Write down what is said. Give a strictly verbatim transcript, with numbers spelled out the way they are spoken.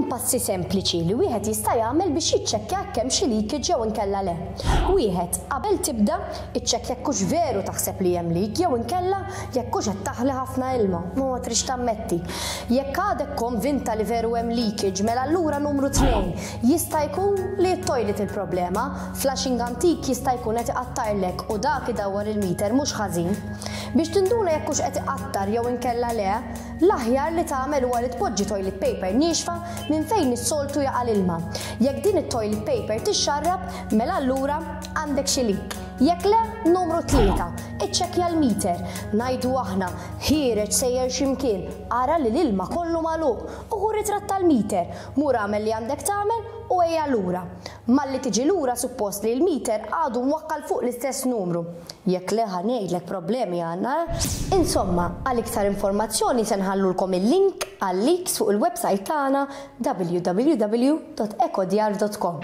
Hemm passi sempliċi li wieħed jista' jagħmel biex jiċċekkja jekk hemm xi leakage jew inkella le. Wieħed, qabel tibda, iċċekkja jekk hux veru taħseb li hemm leak jew inkella jekk hux qed taħli ħafna ilma, ma ma trix tammetti. Jekk għadek konvinta li veru hemm leakage, mela allura numru tnejn, jista' jkun li t-toilet il-problema, flushing antik jista' jkun qed iqattarlek u dak idawwar il-meter mhux ħażin. Biex tinduna jekk hux qed iqattar jew inkella le, l-aħjar li tagħmel huwa li tpoġġi toilet paper niexfa minn fejn is-soltu jaqa' l-ilma. Jekk din it-toilet paper tixxarrab, mela allura għandek xi leak. Jekk le, numru tlieta, iċċekkja l-meter. Ngħidu aħna, ħiereġ sejjer x'imkien, ara li l-ilma kollu magħluq u ħu ritratt tal-meter. Mur agħmel li għandek tagħmel u ejja lura. Malli tiġi lura suppost li l-meter għadu mwakkal fuq l-istess numru. Jekk le, ħa ngħidlek, problemi għandna. Insomma, għal iktar informazzjoni se nħallulkom il-link għal leaks fuq il-website tagħna W W W dot ecodjar dot com.